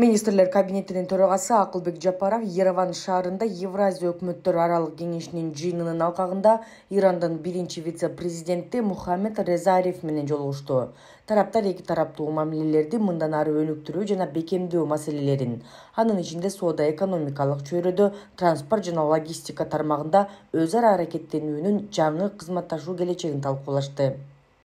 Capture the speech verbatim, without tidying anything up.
Министрлер кабинетинин төрагасы Акылбек Жапаров Ереван шаарында Евразия өкмөттөр аралык кеңешинин жыйынынын алкагында Ирандын биринчи вице-президенти Мухаммед Реза Ариф менен жолугушту. Тараптар эки тараптуу мамилелерди мындан ары өнүктүрүү жана бекемдөө маселелерин, анын ичинде соода-экономикалык чөйрөдө, транспорт жана логистика тармагында өз ара аракеттенүүнүн жаңы кызматташуу келечегин талкуулашты.